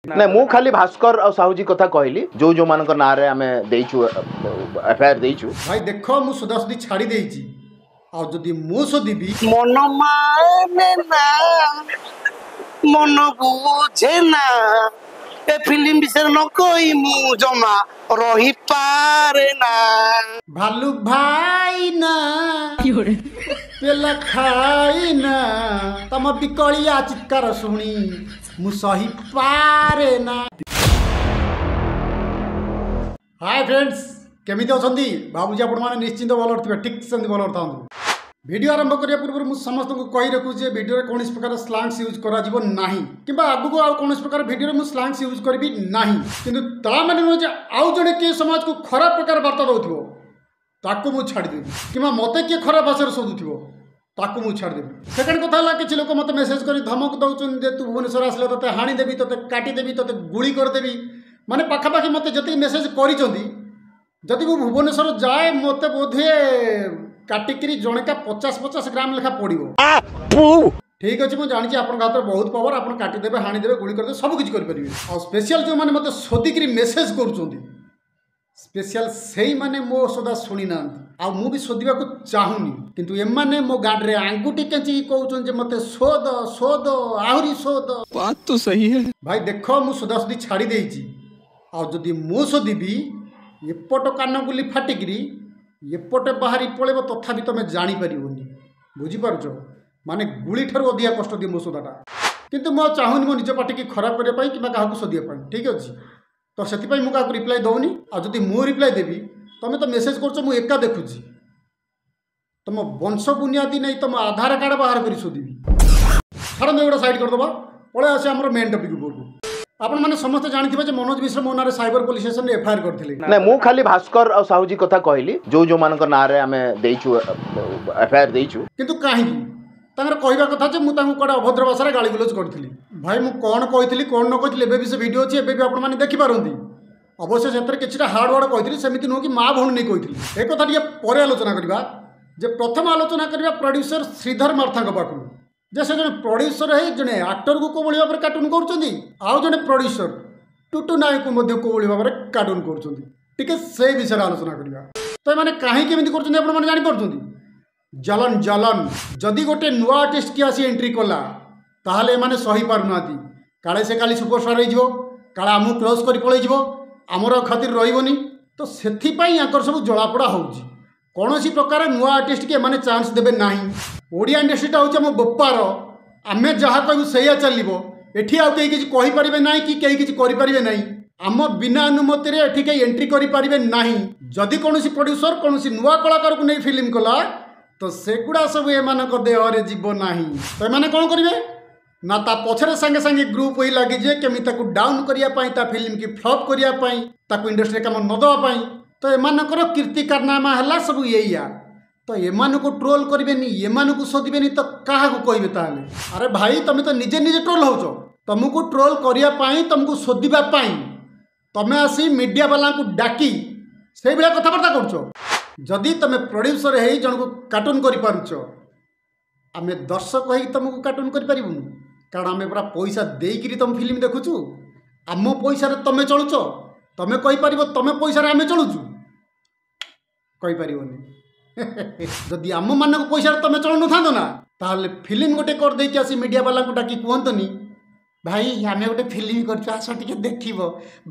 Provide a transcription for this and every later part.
ନାଇଁ, ମୁଁ ଖାଲି ଭାସ୍କର ଆଉ ସାହୁଜୀ କଥା କହିଲି, ଯୋଉ ଯୋଉମାନଙ୍କ ନାଁରେ ଆମେ ଦେଇଛୁ, ଏଫଆଇଆର ଦେଇଛୁ। ଭାଇ ଦେଖ, ମୁଁ ଶୋଧାଶୋଧି ଛାଡ଼ି ଦେଇଛି, ଆଉ ଯଦି ମୁଁ ଶୋଧିବି, ମନ ମାନେ ନା, ମନ ବୁଝେ ନା, ଏ ଫିଲ୍ମ ବିଷୟରେ ନ କହି ମୁଁ ଜମା ରହିପାରେ ନା। ଭାଲୁ ଭାଇ ନା ପେଲା ଖାଇ ନା, ତମ ବିକଳିଆ ଚିତ୍କାର ଶୁଣି ମୁଁ ସହିପାରେ ନା। ହାଏ ଫ୍ରେଣ୍ଡସ୍, କେମିତି ଅଛନ୍ତି? ଭାବୁଛି ଆପଣମାନେ ନିଶ୍ଚିନ୍ତ ଭଲରେ ଥିବେ। ଠିକ୍ ସେମିତି ଭଲରେ ଥାନ୍ତୁ। ଭିଡ଼ିଓ ଆରମ୍ଭ କରିବା ପୂର୍ବରୁ ମୁଁ ସମସ୍ତଙ୍କୁ କହି ରଖୁଛି ଯେ ଭିଡ଼ିଓରେ କୌଣସି ପ୍ରକାର ସ୍ଲାଙ୍ଗସ୍ ୟୁଜ୍ କରାଯିବ ନାହିଁ, କିମ୍ବା ଆଗକୁ ଆଉ କୌଣସି ପ୍ରକାର ଭିଡ଼ିଓରେ ମୁଁ ସ୍ଲାଙ୍ଗସ୍ ୟୁଜ୍ କରିବି ନାହିଁ। କିନ୍ତୁ ତା ମାନେ ନୁହେଁ ଯେ ଆଉ ଜଣେ କିଏ ସମାଜକୁ ଖରାପ ପ୍ରକାର ବାର୍ତ୍ତା ଦେଉଥିବ ତାକୁ ମୁଁ ଛାଡ଼ିଦେବି, କିମ୍ବା ମୋତେ କିଏ ଖରାପ ଭାଷାରେ ଶୋଧୁଥିବ ତାକୁ ମୁଁ ଛାଡ଼ିଦେବି। ସେକେଣ୍ଡ କଥା ହେଲା, କିଛି ଲୋକ ମୋତେ ମେସେଜ୍ କରି ଧମକ ଦେଉଛନ୍ତି ଯେ ତୁ ଭୁବନେଶ୍ୱର ଆସିଲେ ତୋତେ ହାଣିଦେବି, ତୋତେ କାଟିଦେବି, ତୋତେ ଗୁଳି କରିଦେବି। ମାନେ ପାଖାପାଖି ମୋତେ ଯେତିକି ମେସେଜ୍ କରିଛନ୍ତି, ଯଦି ମୁଁ ଭୁବନେଶ୍ୱର ଯାଏ ମୋତେ ବୋଧହୁଏ କାଟିକିରି ଜଣକା 50 50 ଗ୍ରାମ ଲେଖା ପଡ଼ିବ। ଠିକ୍ ଅଛି, ମୁଁ ଜାଣିଛି ଆପଣଙ୍କ ହାତରେ ବହୁତ ପାୱାର, ଆପଣ କାଟିଦେବେ, ହାଣିଦେବେ, ଗୁଳି କରିଦେବେ, ସବୁ କିଛି କରିପାରିବେ। ଆଉ ସ୍ପେଶିଆଲ ଯେଉଁମାନେ ମୋତେ ଶୋଧିକିରି ମେସେଜ୍ କରୁଛନ୍ତି, ସ୍ପେଶିଆଲ ସେଇମାନେ ମୋ ସଦା ଶୁଣିନାହାନ୍ତି, ଆଉ ମୁଁ ବି ଶୋଧିବାକୁ ଚାହୁଁନି। କିନ୍ତୁ ଏମାନେ ମୋ ଗାଡ଼ିରେ ଆଙ୍ଗୁଠି କେଞ୍ଚିକି କହୁଛନ୍ତି ଯେ ମୋତେ ଶୋଧ, ଶୋଧ, ଆହୁରି ଶୋଧ। ବାତ ତ ସହି ହେ। ଭାଇ ଦେଖ, ମୁଁ ଶୋଧାଶୋଧି ଛାଡ଼ି ଦେଇଛି, ଆଉ ଯଦି ମୁଁ ଶୋଧିବି ଏପଟ କାନ ଗୁଲି ଫାଟିକିରି ଏପଟେ ବାହାରି ପଳେଇବ, ତଥାପି ତମେ ଜାଣିପାରିବନି। ବୁଝିପାରୁଛ? ମାନେ ଗୁଳି ଠାରୁ ଅଧିକା କଷ୍ଟ ଦିଏ ମୋ ଶୋଧାଟା। କିନ୍ତୁ ମୁଁ ଆଉ ଚାହୁଁନି ମୋ ନିଜ ପାଟିକି ଖରାପ କରିବା ପାଇଁ କିମ୍ବା କାହାକୁ ଶୋଧିବା ପାଇଁ। ଠିକ୍ ଅଛି, ତ ସେଥିପାଇଁ ମୁଁ କାହାକୁ ରିପ୍ଲାଏ ଦେଉନି। ଆଉ ଯଦି ମୁଁ ରିପ୍ଲାଏ ଦେବି, ତମେ ତ ମେସେଜ୍ କରୁଛ, ମୁଁ ଏକା ଦେଖୁଛି, ତମ ବଂଶ ବୁନିଆଦି ନେଇ ତମ ଆଧାର କାର୍ଡ଼ ବାହାର କରି ଶୋଧିବି। ଛାଡ଼ନ୍ତୁ, ଏଗୁଡ଼ା ସାଇଡ଼୍ କରିଦେବା, ପଳେଇ ଆସିବା ଆମର ମେନ୍ ଟପିକ୍ ଉପରକୁ। ଆପଣମାନେ ସମସ୍ତେ ଜାଣିଥିବେ ଯେ ମନୋଜ ମିଶ୍ର ମୋ ନାଁରେ ସାଇବର ପୋଲିସ ଷ୍ଟେସନରେ ଏଫଆଇଆର କରିଥିଲେ। ନାଇଁ, ମୁଁ ଖାଲି ଭାସ୍କର ଆଉ ସାହୁଜୀ କଥା କହିଲି, ଯୋଉ ଯୋଉମାନଙ୍କ ନାଁରେ ଆମେ ଦେଇଛୁ, ଏଫଆଇଆର ଦେଇଛୁ। କିନ୍ତୁ କାହିଁକି? ତାଙ୍କର କହିବା କଥା ଯେ ମୁଁ ତାଙ୍କୁ କୁଆଡ଼େ ଅଭଦ୍ର ଭାଷାରେ ଗାଳିଗୁଲଜ କରିଥିଲି। ଭାଇ, ମୁଁ କ'ଣ କହିଥିଲି କ'ଣ ନ କହିଥିଲି, ଏବେ ବି ସେ ଭିଡ଼ିଓ ଅଛି, ଏବେ ବି ଆପଣମାନେ ଦେଖିପାରନ୍ତି। ଅବଶ୍ୟ ସେଥିରେ କିଛିଟା ହାର୍ଡ଼ ୱାର୍ଡ଼ କହିଥିଲି, ସେମିତି ନୁହଁ କି ମା ଭଉଣୀ ନେଇ କହିଥିଲି। ଏ କଥା ଟିକେ ପରେ ଆଲୋଚନା କରିବା, ଯେ ପ୍ରଥମ ଆଲୋଚନା କରିବା ପ୍ରଡ୍ୟୁସର ଶ୍ରୀଧର ମାର୍ଥାଙ୍କ ପାଖରୁ, ଯେ ସେ ଜଣେ ପ୍ରଡ୍ୟୁସର ହେଇ ଜଣେ ଆକ୍ଟରକୁ କେଉଁଭଳି ଭାବରେ କାର୍ଟୁନ୍ କରୁଛନ୍ତି, ଆଉ ଜଣେ ପ୍ରଡ୍ୟୁସର ଟୁଟୁ ନାୟକକୁ ମଧ୍ୟ କେଉଁଭଳି ଭାବରେ କାର୍ଟୁନ୍ କରୁଛନ୍ତି, ଟିକେ ସେ ବିଷୟରେ ଆଲୋଚନା କରିବା। ତ ଏମାନେ କାହିଁକି ଏମିତି କରୁଛନ୍ତି ଆପଣମାନେ ଜାଣିପାରୁଛନ୍ତି? ଜଲନ ଜଲନ। ଯଦି ଗୋଟେ ନୂଆ ଆର୍ଟିଷ୍ଟ କିଏ ଆସି ଏଣ୍ଟ୍ରି କଲା, ତାହେଲେ ଏମାନେ ସହିପାରୁନାହାନ୍ତି। କାଳେ ସେ କାଲି ସୁପରଷ୍ଟାର ହେଇଯିବ, କାଳେ ଆମକୁ କ୍ରସ୍ କରି ପଳେଇଯିବ, ଆମର ଖାତିର ରହିବନି। ତ ସେଥିପାଇଁ ୟାଙ୍କର ସବୁ ଜଳାପୋଡ଼ା ହେଉଛି। କୌଣସି ପ୍ରକାର ନୂଆ ଆର୍ଟିଷ୍ଟକି ଏମାନେ ଚାନ୍ସ ଦେବେ ନାହିଁ। ଓଡ଼ିଆ ଇଣ୍ଡଷ୍ଟ୍ରିଟା ହେଉଛି ଆମ ବୋପାର, ଆମେ ଯାହା କହିବୁ ସେଇଆ ଚାଲିବ। ଏଠି ଆଉ କେହି କିଛି କହିପାରିବେ ନାହିଁ କି କେହି କିଛି କରିପାରିବେ ନାହିଁ। ଆମ ବିନା ଅନୁମତିରେ ଏଠି କେହି ଏଣ୍ଟ୍ରି କରିପାରିବେ ନାହିଁ। ଯଦି କୌଣସି ପ୍ରଡ୍ୟୁସର କୌଣସି ନୂଆ କଳାକାରକୁ ନେଇ ଫିଲ୍ମ କଲା, ତ ସେଗୁଡ଼ା ସବୁ ଏମାନଙ୍କ ଦେହରେ ଯିବ ନାହିଁ। ତ ଏମାନେ କ'ଣ କରିବେ ନା, ତା ପଛରେ ସାଙ୍ଗେ ସାଙ୍ଗେ ଗ୍ରୁପ୍ ହୋଇ ଲାଗିଯିବେ, କେମିତି ତାକୁ ଡାଉନ୍ କରିବା ପାଇଁ, ତା ଫିଲ୍ମକି ଫ୍ଲପ୍ କରିବା ପାଇଁ, ତାକୁ ଇଣ୍ଡଷ୍ଟ୍ରିରେ କାମ ନ ଦେବା ପାଇଁ। ତ ଏମାନଙ୍କର କୀର୍ତ୍ତି କାରନାମା ହେଲା ସବୁ ଏଇଆ। ତ ଏମାନଙ୍କୁ ଟ୍ରୋଲ୍ କରିବେନି, ଏମାନଙ୍କୁ ଶୋଧିବେନି, ତ କାହାକୁ କହିବେ ତାହେଲେ? ଆରେ ଭାଇ, ତମେ ତ ନିଜେ ନିଜେ ଟ୍ରୋଲ୍ ହେଉଛ। ତମକୁ ଟ୍ରୋଲ୍ କରିବା ପାଇଁ, ତମକୁ ଶୋଧିବା ପାଇଁ ତମେ ଆସି ମିଡ଼ିଆ ବାଲାଙ୍କୁ ଡାକି ସେଇଭଳିଆ କଥାବାର୍ତ୍ତା କରୁଛ। ଯଦି ତମେ ପ୍ରଡ୍ୟୁସର ହେଇ ଜଣକୁ କାର୍ଟୁନ୍ କରିପାରୁଛ, ଆମେ ଦର୍ଶକ ହେଇକି ତମକୁ କାର୍ଟୁନ୍ କରିପାରିବୁନୁ? କାରଣ ଆମେ ପୁରା ପଇସା ଦେଇକିରି ତମ ଫିଲ୍ମ ଦେଖୁଛୁ। ଆମ ପଇସାରେ ତମେ ଚଳୁଛ। ତମେ କହିପାରିବ ତମେ ପଇସାରେ ଆମେ ଚଳୁଛୁ? କହିପାରିବନି। ଯଦି ଆମମାନଙ୍କ ପଇସାରେ ତମେ ଚଳୁନଥାନ୍ତ ନା, ତାହେଲେ ଫିଲ୍ମ ଗୋଟେ କରିଦେଇକି ଆସି ମିଡ଼ିଆ ବାଲାଙ୍କୁ ଡାକି କୁହନ୍ତନି, ଭାଇ ଆମେ ଗୋଟେ ଫିଲ୍ମ କରିଛୁ, ଆସ ଟିକେ ଦେଖିବ।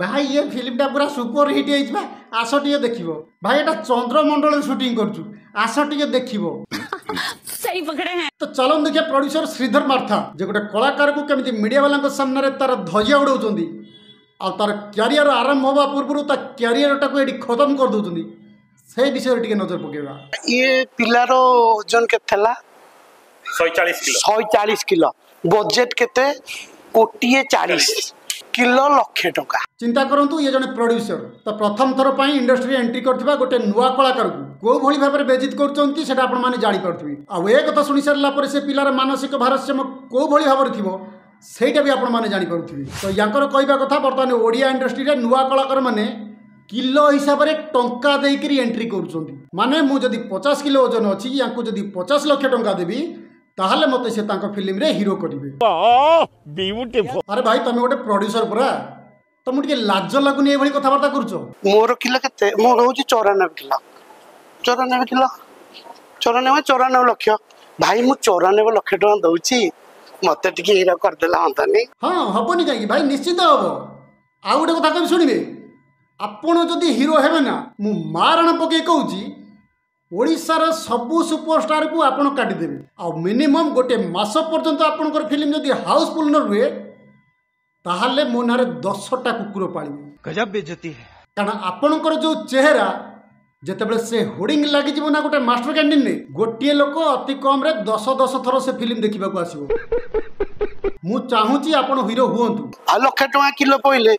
ଭାଇ ଏ ଫିଲ୍ମଟା ପୁରା ସୁପର ହିଟ୍ ହେଇଛି ବା, ଆସ ଟିକେ ଦେଖିବ। ଭାଇ ଏଇଟା ଚନ୍ଦ୍ରମଣ୍ଡଳରେ ସୁଟିଂ କରୁଛୁ, ଆସ ଟିକେ ଦେଖିବ। सही पकड़े हैं। ତ ଚାଲନ୍ତୁ ଦେଖିବା ପ୍ରଡ୍ୟୁସର ଶ୍ରୀଧର ମାର୍ଥା ଯେ ଗୋଟେ କଳାକାରକୁ କେମିତି ମିଡ଼ିଆ ବାଲାଙ୍କ ସାମ୍ନାରେ ତାର ଧଜିଆ ଉଡ଼ାଉଛନ୍ତି, ଆଉ ତାର କ୍ୟାରିୟର ଆରମ୍ଭ ହେବା ପୂର୍ବରୁ ତା କ୍ୟାରିୟରଟାକୁ ଏଠି ଖତମ କରିଦେଉଛନ୍ତି, ସେଇ ବିଷୟରେ ଟିକେ ନଜର ପକାଇବା। ଇଏ ପିଲାର ଓଜନ କେତେ ଥିଲା? 140 କିଲୋ। 140 କିଲୋ। ବଜେଟ କେତେ? କୋଟିଏ 40 କିଲୋ ଲକ୍ଷେ ଟଙ୍କା। ଚିନ୍ତା କରନ୍ତୁ, ଇଏ ଜଣେ ପ୍ରଡ୍ୟୁସର, ତ ପ୍ରଥମ ଥର ପାଇଁ ଇଣ୍ଡଷ୍ଟ୍ରିରେ ଏଣ୍ଟ୍ରି କରିଥିବା ଗୋଟେ ନୂଆ କଳାକାରକୁ କେଉଁ ଭଳି ଭାବରେ ବେଜିତ କରୁଛନ୍ତି ସେଇଟା ଆପଣମାନେ ଜାଣିପାରୁଥିବେ। ଆଉ ଏ କଥା ଶୁଣି ସାରିଲା ପରେ ସେ ପିଲାର ମାନସିକ ଭାରସାମ୍ୟ କେଉଁ ଭଳି ଭାବରେ ଥିବ, ସେଇଟା ବି ଆପଣମାନେ ଜାଣିପାରୁଥିବେ। ତ ୟାଙ୍କର କହିବା କଥା, ବର୍ତ୍ତମାନ ଓଡ଼ିଆ ଇଣ୍ଡଷ୍ଟ୍ରିରେ ନୂଆ କଳାକାରମାନେ କିଲୋ ହିସାବରେ ଟଙ୍କା ଦେଇକିରି ଏଣ୍ଟ୍ରି କରୁଛନ୍ତି। ମାନେ ମୁଁ ଯଦି 50 କିଲୋ ଓଜନ ଅଛି, ୟାଙ୍କୁ ଯଦି 50 ଲକ୍ଷ ଟଙ୍କା ଦେବି, ତାହେଲେ ମୋତେ ସେ ତାଙ୍କ ଫିଲ୍ମରେ ହିରୋ କରିବେ। ଆରେ ଭାଇ, ତମେ ଗୋଟେ ପ୍ରଡ୍ୟୁସର ପରା, ତମକୁ ଟିକେ ଲାଜ ଲାଗୁନି ଏଇଭଳି କଥାବାର୍ତ୍ତା କରୁଛ? ମୋର କିଲୋ କେତେ? ମୋର ହଉଛି 94 କିଲୋ, 94 କିଲୋ, 94, 94 ଲକ୍ଷ। ଭାଇ, ମୁଁ 94 ଲକ୍ଷ ଟଙ୍କା ଦଉଛି, ମତେ ଟିକେ ହିରୋ କରିଦେଲେ ହନ୍ତାନି? ହଁ, ହବନି କାହିଁକି ଭାଇ, ନିଶ୍ଚିତ ହବ। ଆଉ ଗୋଟେ କଥା କହିବି, ଶୁଣିବେ। ଆପଣ ଯଦି ହିରୋ ହେବେ ନା, ମୁଁ ମାରଣ ପକେଇ କହୁଛି, ଓଡ଼ିଶାର ସବୁ ସୁପରଷ୍ଟାରକୁ ଆପଣ କାଟିଦେବେ। ଆଉ ମିନିମମ୍ ଗୋଟେ ମାସ ପର୍ଯ୍ୟନ୍ତ ଆପଣଙ୍କର ଫିଲ୍ମ ଯଦି ହାଉସଫୁଲ୍ ନ ରୁହେ, ତାହେଲେ ମୋ ନାଁରେ 10ଟା କୁକୁର ପାଳିବେ। गजब बेइज्जती है। କାରଣ ଆପଣଙ୍କର ଯେଉଁ ଚେହେରା, ଯେତେବେଳେ ସେ ହୋର୍ଡିଂ ଲାଗିଯିବ ନା ଗୋଟେ ମାଷ୍ଟର କ୍ୟାଣ୍ଟିନରେ, ଗୋଟିଏ ଲୋକ ଅତି କମରେ 10 10 ଥର ସେ ଫିଲ୍ମ ଦେଖିବାକୁ ଆସିବ। ମୁଁ ଚାହୁଁଛି ଆପଣ ହିରୋ ହୁଅନ୍ତୁ। ଆଉ ଲକ୍ଷେ ଟଙ୍କା କିଲୋ ପଇଲେ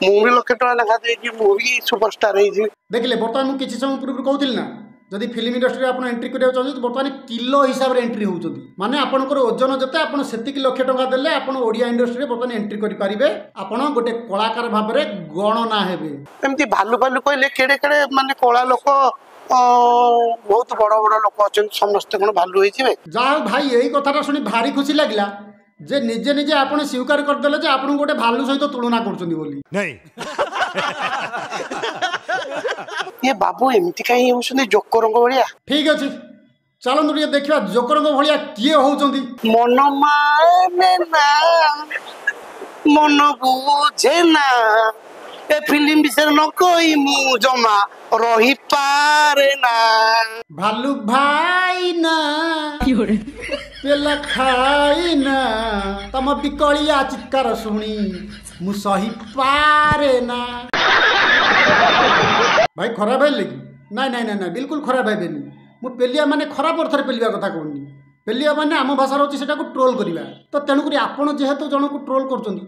ମୁଁ ବି ଲକ୍ଷେ ଟଙ୍କା ଲେଖା ଦେଇକି ମୁଁ ବି ସୁପରଷ୍ଟାର ହେଇଯିବି। ଦେଖିଲେ, ବର୍ତ୍ତମାନ ମୁଁ କିଛି ସମୟ ପୂର୍ବରୁ କହୁଥିଲି ନା, ଯଦି ଫିଲ୍ମ ଇଣ୍ଡଷ୍ଟ୍ରିରେ ଆପଣ ଏଣ୍ଟ୍ରି କରିବାକୁ ଚାହୁଁଛନ୍ତି, ବର୍ତ୍ତମାନ କିଲୋ ହିସାବରେ ଏଣ୍ଟ୍ରି ହେଉଛନ୍ତି। ମାନେ ଆପଣଙ୍କର ଓଜନ ଯେତେ, ଆପଣ ସେତିକି ଲକ୍ଷ ଟଙ୍କା ଦେଲେ ଆପଣ ଓଡ଼ିଆ ଇଣ୍ଡଷ୍ଟ୍ରିରେ ବର୍ତ୍ତମାନ ଏଣ୍ଟ୍ରି କରିପାରିବେ। ଆପଣ ଗୋଟେ କଳାକାର ଭାବରେ ଗଣନା ହେବେ। ଏମିତି ଭାଲୁ ଭାଲୁ କହିଲେ କେଡ଼େ କେଡ଼େ ମାନେ କଳା ଲୋକ, ବହୁତ ବଡ଼ ବଡ଼ ଲୋକ ଅଛନ୍ତି, ସମସ୍ତେ କ'ଣ ଭାଲୁ ହେଇଯିବେ? ଯାହା ହଉ ଭାଇ, ଏଇ କଥାଟା ଶୁଣି ଭାରି ଖୁସି ଲାଗିଲା ଯେ ନିଜେ ନିଜେ ଆପଣ ସ୍ୱୀକାର କରିଦେଲେ ଯେ ଆପଣଙ୍କୁ ଗୋଟେ ଭାଲୁ ସହିତ ତୁଳନା କରୁଛନ୍ତି ବୋଲି। नहीं। ଇଏ ବାବୁ ଏମିତି କାହିଁ ହେଉଛନ୍ତି ଜୋକରଙ୍କ ଭଳିଆ? ଠିକ ଅଛି, ଚାଲନ୍ତୁ ଟିକେ ଦେଖିବା ଜୋକରଙ୍କ ଭଳିଆ କିଏ ହଉଛନ୍ତି। ମନ ମାନେ ନା, ମନ ବୁଝେ ନା, ଏ ଫିଲ୍ମ ବିଷୟରେ ନ କହି ମୁଁ ଜମା ରହିପାରେ ନା। ଭାଲୁ ଭାଇ ନା ପେଲା ଖାଇ ନା, ତମ ବିକଳିଆ ଚିତ୍କାର ଶୁଣି ମୁଁ ସହିପାରେ ନା। ଭାଇ, ଖରାପ ହେଲେ କି? ନାଇଁ ନାଇଁ ନାଇଁ ନାଇଁ, ବିଲକୁଲ ଖରାପ ହେବେନି। ମୁଁ ପେଲିଆ ମାନେ ଖରାପ ଅର୍ଥରେ ପେଲିବା କଥା କହୁନି। ପେଲିବା ମାନେ ଆମ ଭାଷାରେ ହେଉଛି ସେଟାକୁ ଟ୍ରୋଲ୍ କରିବା। ତ ତେଣୁକରି ଆପଣ ଯେହେତୁ ଜଣକୁ ଟ୍ରୋଲ୍ କରୁଛନ୍ତି,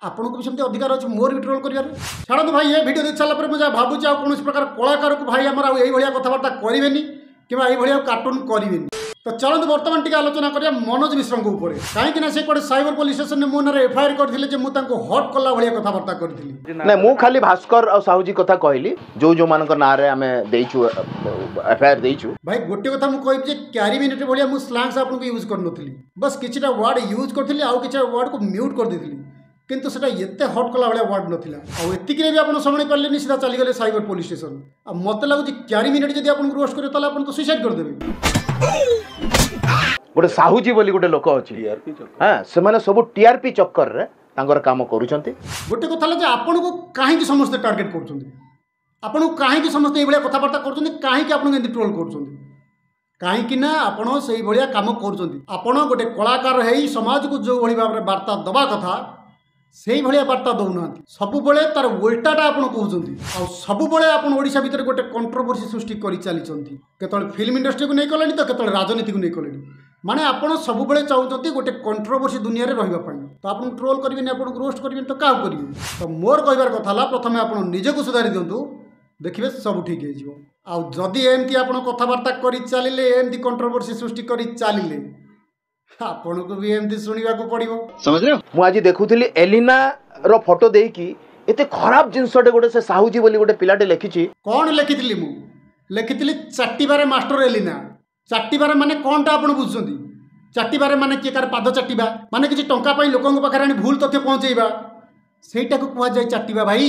ଆପଣଙ୍କୁ ବି ସେମିତି ଅଧିକାର ଅଛି ମୋର ବି ଟ୍ରୋଲ୍ କରିବାରେ। ଛାଡ଼ନ୍ତୁ ଭାଇ, ଏ ଭିଡ଼ିଓ ଦେଖି ସାରିଲା ପରେ ମୁଁ ଯାହା ଭାବୁଛି, ଆଉ କୌଣସି ପ୍ରକାର କଳାକାରକୁ ଭାଇ ଆମର ଆଉ ଏଇଭଳିଆ କଥାବାର୍ତ୍ତା କରିବେନି କିମ୍ବା ଏଇଭଳିଆ କାର୍ଟୁନ୍ କରିବେନି। ତ ଚାଲନ୍ତୁ, ବର୍ତ୍ତମାନ ଟିକେ ଆଲୋଚନା କରିବା ମନୋଜ ମିଶ୍ରଙ୍କ ଉପରେ। କାହିଁକି ନା ସେ କୁଆଡ଼େ ସାଇବର ପୋଲିସ ଷ୍ଟେସନରେ ମୋ ନାଁରେ ଏଫଆଇଆର କରିଥିଲେ ଯେ ମୁଁ ତାଙ୍କୁ ହଟ୍ କଲା ଭଳିଆ କଥାବାର୍ତ୍ତା କରିଥିଲି। ନାଇଁ, ମୁଁ ଖାଲି ଭାସ୍କର ଆଉ ସାହୁଜୀ କଥା କହିଲି, ଯୋଉ ଯୋଉମାନଙ୍କ ନାଁରେ ଆମେ ଦେଇଛୁ, ଏଫଆଇଆର ଦେଇଛୁ। ଭାଇ, ଗୋଟେ କଥା ମୁଁ କହିବି ଯେ କ୍ୟାରି ମିନିଟ୍ ଭଳିଆ ମୁଁ ସ୍ଲାଙ୍ଗସ୍ ଆପଣଙ୍କୁ ୟୁଜ୍ କରିନଥିଲି। ବାସ୍ କିଛିଟା ୱାର୍ଡ଼ ୟୁଜ୍ କରିଥିଲି, ଆଉ କିଛିଟା ୱାର୍ଡ଼କୁ ମ୍ୟୁଟ୍ କରିଦେଇଥିଲି। କିନ୍ତୁ ସେଟା ଏତେ ହଟ୍ କଲା ଭଳିଆ ୱାର୍ଡ଼ ନଥିଲା। ଆଉ ଏତିକିରେ ବି ଆପଣ ସମ୍ଭାଳି ପାରିଲେନି, ସିଧା ଚାଲିଗଲେ ସାଇବର ପୋଲିସ ଷ୍ଟେସନ। ଆଉ ମୋତେ ଲାଗୁଛି କ୍ୟାରି ମିନିଟ୍ ଯଦି ଆପଣଙ୍କୁ ରୋଷ୍ଟ କରିବେ, ତାହେଲେ ଆପଣ ତ ସୁଇସାଇଡ୍ କରିଦେବେ। ଗୋଟେ ସାହୁଜୀ ବୋଲି ଗୋଟେ ଲୋକ ଅଛି। ହଁ, ସେମାନେ ସବୁ ଟିଆରପି ଚକ୍କରରେ ତାଙ୍କର କାମ କରୁଛନ୍ତି। ଗୋଟେ କଥା ହେଲା ଯେ ଆପଣଙ୍କୁ କାହିଁକି ସମସ୍ତେ ଟାର୍ଗେଟ୍ କରୁଛନ୍ତି? ଆପଣଙ୍କୁ କାହିଁକି ସମସ୍ତେ ଏଇଭଳିଆ କଥାବାର୍ତ୍ତା କରୁଛନ୍ତି? କାହିଁକି ଆପଣଙ୍କୁ ଏମିତି ଟ୍ରୋଲ୍ କରୁଛନ୍ତି? କାହିଁକି ନା ଆପଣ ସେଇଭଳିଆ କାମ କରୁଛନ୍ତି। ଆପଣ ଗୋଟେ କଳାକାର ହେଇ ସମାଜକୁ ଯେଉଁଭଳି ଭାବରେ ବାର୍ତ୍ତା ଦେବା କଥା, ସେଇଭଳିଆ ବାର୍ତ୍ତା ଦେଉନାହାନ୍ତି। ସବୁବେଳେ ତାର ଓଲଟାଟା ଆପଣ କହୁଛନ୍ତି। ଆଉ ସବୁବେଳେ ଆପଣ ଓଡ଼ିଶା ଭିତରେ ଗୋଟେ କଣ୍ଟ୍ରୋଭର୍ସି ସୃଷ୍ଟି କରି ଚାଲିଛନ୍ତି। କେତେବେଳେ ଫିଲ୍ମ ଇଣ୍ଡଷ୍ଟ୍ରିକୁ ନେଇ କଲେଣି ତ କେତେବେଳେ ରାଜନୀତିକୁ ନେଇ କଲେଣି। ମାନେ ଆପଣ ସବୁବେଳେ ଚାହୁଁଛନ୍ତି ଗୋଟେ କଣ୍ଟ୍ରୋଭର୍ସି ଦୁନିଆରେ ରହିବା ପାଇଁ। ତ ଆପଣଙ୍କୁ ଟ୍ରୋଲ୍ କରିବେନି, ଆପଣଙ୍କୁ ରୋଷ୍ଟ କରିବେନି ତ କାହାକୁ କରିବେ? ତ ମୋର କହିବାର କଥା ହେଲା, ପ୍ରଥମେ ଆପଣ ନିଜକୁ ସୁଧାରି ଦିଅନ୍ତୁ, ଦେଖିବେ ସବୁ ଠିକ୍ ହେଇଯିବ। ଆଉ ଯଦି ଏମିତି ଆପଣ କଥାବାର୍ତ୍ତା କରି ଚାଲିଲେ, ଏମିତି କଣ୍ଟ୍ରୋଭର୍ସି ସୃଷ୍ଟି କରି ଚାଲିଲେ, ଆପଣଙ୍କୁ ବି ଏମିତି ଶୁଣିବାକୁ ପଡ଼ିବ। ମୁଁ ଆଜି ଦେଖୁଥିଲି, ଏଲିନାର ଫଟୋ ଦେଇକି ଏତେ ଖରାପ ଜିନିଷଟେ ଗୋଟେ ସେ ସାହୁଜୀ ବୋଲି ଗୋଟେ ପିଲାଟେ ଲେଖିଛି। କ'ଣ ଲେଖିଥିଲି ମୁଁ? ଲେଖିଥିଲି ଚାଟିବାରେ ମାଷ୍ଟର ଏଲିନା। ଚାଟିବାରେ ମାନେ କ'ଣଟା ଆପଣ ବୁଝୁଛନ୍ତି? ଚାଟିବାରେ ମାନେ କିଏ କାହାର ପାଦ ଚାଟିବା, ମାନେ କିଛି ଟଙ୍କା ପାଇଁ ଲୋକଙ୍କ ପାଖରେ ଆଣି ଭୁଲ ତଥ୍ୟ ପହଞ୍ଚେଇବା, ସେଇଟାକୁ କୁହାଯାଏ ଚାଟିବା ଭାଇ।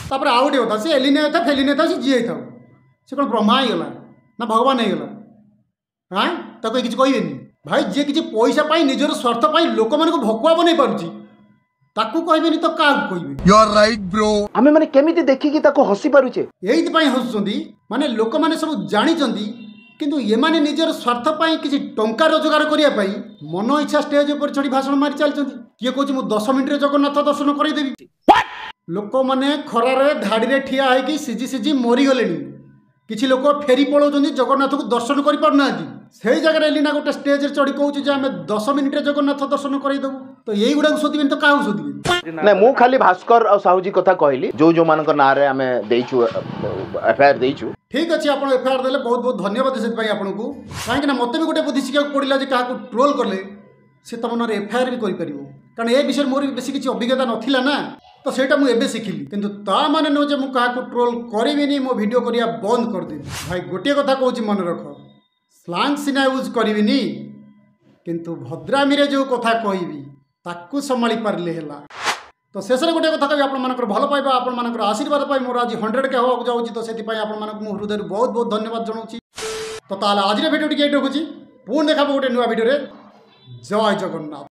ତାପରେ ଆଉ ଗୋଟେ କଥା, ସେ ଏଲିନା ହେଇଥାଉ, ଫେଲିନା ହେଇଥାଉ, ସେ ଯିଏ ହେଇଥାଉ, ସେ କ'ଣ ବ୍ରହ୍ମା ହେଇଗଲା ନା ଭଗବାନ ହେଇଗଲା? ହାଁ, ତାକୁ କେହି କିଛି କହିବେନି? ଭାଇ, ଯିଏ କିଛି ପଇସା ପାଇଁ, ନିଜର ସ୍ୱାର୍ଥ ପାଇଁ ଲୋକମାନଙ୍କୁ ଭକୁଆ ବନେଇ ପାରୁଛି, ତାକୁ କହିବେନି ତ କାହାକୁ କହିବେ? You are right, bro. ଆମେ ମାନେ କେମିତି ଦେଖିକି ତାକୁ ହସି ପାରୁଛେ? ଏଇଥିପାଇଁ ହସୁଛନ୍ତି। ମାନେ ଲୋକମାନେ ସବୁ ଜାଣିଛନ୍ତି, କିନ୍ତୁ ଏମାନେ ନିଜର ସ୍ୱାର୍ଥ ପାଇଁ, କିଛି ଟଙ୍କା ରୋଜଗାର କରିବା ପାଇଁ ମନ ଇଚ୍ଛା ଷ୍ଟେଜ ଉପରେ ଚଢ଼ି ଭାଷଣ ମାରି ଚାଲିଛନ୍ତି। କିଏ କହୁଛି ମୁଁ 10 ମିନିଟରେ ଜଗନ୍ନାଥ ଦର୍ଶନ କରେଇଦେବି। ଲୋକମାନେ ଖରାରେ ଧାଡ଼ିରେ ଠିଆ ହେଇକି ସିଝି ସିଝି ମରିଗଲେଣି। କିଛି ଲୋକ ଫେରି ପଳାଉଛନ୍ତି, ଜଗନ୍ନାଥକୁ ଦର୍ଶନ କରିପାରୁନାହାନ୍ତି। ସେଇ ଜାଗାରେ ଏଲିନା ଗୋଟେ ଷ୍ଟେଜରେ ଚଢ଼ି କହୁଛି ଯେ ଆମେ 10 ମିନିଟରେ ଜଗନ୍ନାଥ ଦର୍ଶନ କରେଇଦେବୁ। ତ ଏଇଗୁଡ଼ାକୁ ଶୋଧିବେନି ତ କାହାକୁ ଶୋଧିବେ? ନାଇଁ, ମୁଁ ଖାଲି ଭାସ୍କର ଆଉ ସାହୁଜୀ କଥା କହିଲି, ଯୋଉ ଯୋଉମାନଙ୍କ ନାଁରେ ଆମେ ଦେଇଛୁ, ଏଫଆଇଆର ଦେଇଛୁ। ଠିକ୍ ଅଛି, ଆପଣ ଏଫଆଇଆର ଦେଲେ, ବହୁତ ବହୁତ ଧନ୍ୟବାଦ ସେଥିପାଇଁ ଆପଣଙ୍କୁ। କାହିଁକିନା ମୋତେ ବି ଗୋଟେ ବୁଦ୍ଧି ଶିଖିବାକୁ ପଡ଼ିଲା ଯେ କାହାକୁ ଟ୍ରୋଲ୍ କଲେ ସେ ତୁମ ନାଁରେ ଏଫଆଇଆର ବି କରିପାରିବ। କାରଣ ଏ ବିଷୟରେ ମୋର ବି ବେଶୀ କିଛି ଅଭିଜ୍ଞତା ନଥିଲା ନା, ତ ସେଇଟା ମୁଁ ଏବେ ଶିଖିଲି। କିନ୍ତୁ ତା ମାନେ ନୁହେଁ ଯେ ମୁଁ କାହାକୁ ଟ୍ରୋଲ୍ କରିବିନି, ମୋ ଭିଡ଼ିଓ କରିବା ବନ୍ଦ କରିଦେବି। ଭାଇ, ଗୋଟିଏ କଥା କହୁଛି ମନେ ରଖ, ସ୍ଲାଙ୍ଗ ସିନା ୟୁଜ୍ କରିବିନି, କିନ୍ତୁ ଭଦ୍ରାମୀରେ ଯେଉଁ କଥା କହିବି ତାକୁ ସମ୍ଭାଳି ପାରିଲେ ହେଲା। ତ ଶେଷରେ ଗୋଟେ କଥା କହିବି, ଆପଣମାନଙ୍କର ଭଲ ପାଇବା, ଆପଣମାନଙ୍କର ଆଶୀର୍ବାଦ ପାଇଁ ମୋର ଆଜି 100K ହେବାକୁ ଯାଉଛି। ତ ସେଥିପାଇଁ ଆପଣମାନଙ୍କୁ ମୁଁ ହୃଦୟରୁ ବହୁତ ବହୁତ ଧନ୍ୟବାଦ ଜଣାଉଛି। ତ ତାହେଲେ ଆଜିର ଭିଡ଼ିଓ ଟିକେ ଏଇଠି ରଖୁଛି। ପୁଣି ଦେଖାବ ଗୋଟେ ନୂଆ ଭିଡ଼ିଓରେ। ଜୟ ଜଗନ୍ନାଥ।